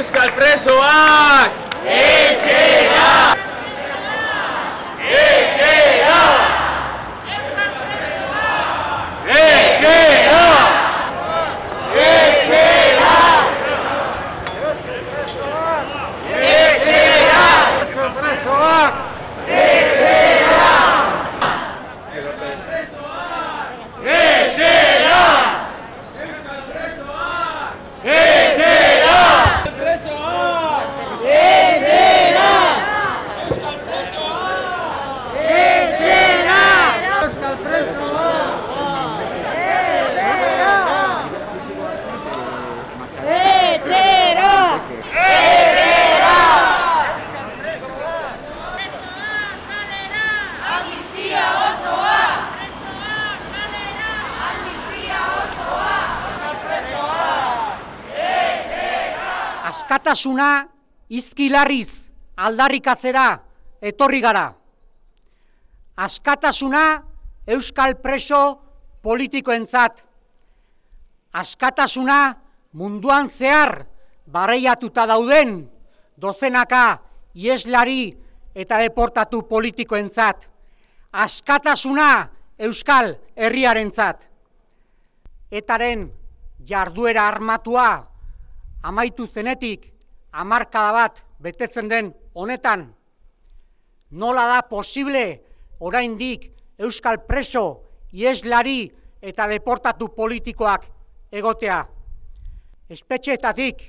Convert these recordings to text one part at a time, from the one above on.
Euskal presoak! Etxera! Etxera! Etxera! Etxera! Etxera! Euskal presoak! Etxera! Etxera! Askatasuna izkilarriz aldarrikatzera etorri gara. Askatasuna euskal preso politikoentzat. Askatasuna munduan zehar barreiatuta dauden dozenaka ieslari eta deportatu politikoentzat. Askatasuna euskal herriarentzat. Etaren jarduera armatua amaitu zenetik hamarkada bat betetzen den honetan, nola da posible oraindik euskal preso, ieslari eta deportatu politikoak egotea? Espetxeetatik,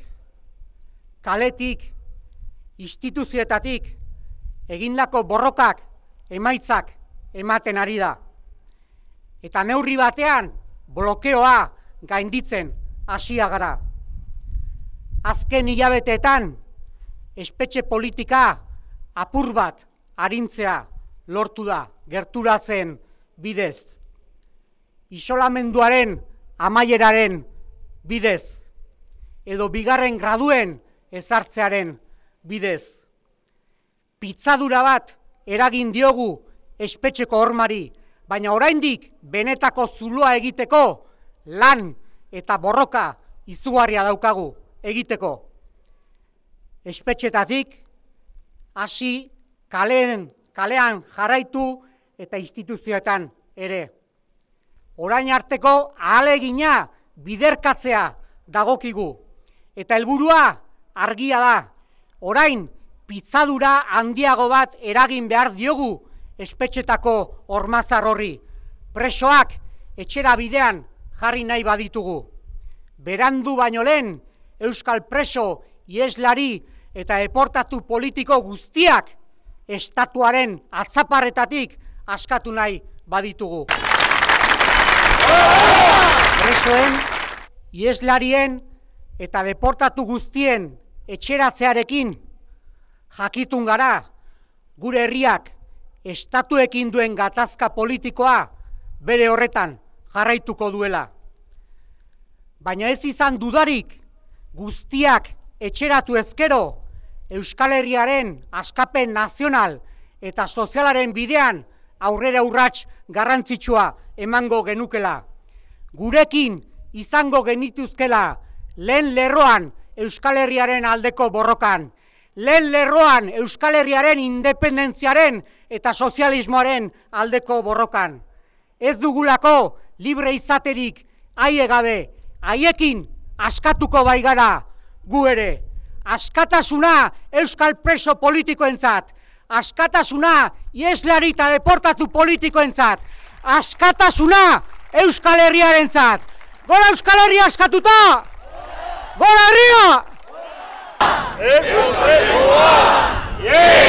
kaletik, instituzioetatik egindako borrokak emaitzak ematen ari da. Eta neurri batean blokeoa gainditzen hasia gara. Azken hilabeteetan, espetxe politika apur bat arintzea lortu da gerturatzen bidez. Isolamenduaren amaieraren bidez, edo bigarren graduen ezartzearen bidez. Pitzadura bat eragin diogu espetxeko hormari, baina oraindik benetako zuloa egiteko lan eta borroka izugarria daukagu egiteko. Espetxetatik hasi kalean jarraitu eta instituzioetan ere. Orain arteko ahalegina biderkatzea dagokigu. Eta helburua argia da. Orain pitzadura handiago bat eragin behar diogu espetxetako hormazar horri. Presoak etxera bidean jarri nahi baditugu. Berandu baino lehen euskal preso, ieslari eta deportatu politiko guztiak estatuaren atzaparretatik askatu nahi baditugu. Presoen, ieslarien eta deportatu guztien etxeratzearekin jakitun gara gure herriak estatuekin duen gatazka politikoa bere horretan jarraituko duela. Baina ez izan dudarik guztiak etxeratu ezkero Euskal Herriaren askapen nazional eta sozialaren bidean aurrera urrats garrantzitsua emango genukela. Gurekin izango genituzkela lehen lerroan Euskal Herriaren aldeko borrokan, lehen lerroan Euskal Herriaren independentziaren eta sozialismoaren aldeko borrokan. Ez dugulako libre izaterik haie gabe, haiekin askatuko baigara gu ere. Askatasuna euskal preso politikoentzat, askatasuna ieslari eta deportatu politikoentzat, askatasuna Euskal Herriarentzat. Gora Euskal Herria askatuta! Gora herria! Euskal presoa!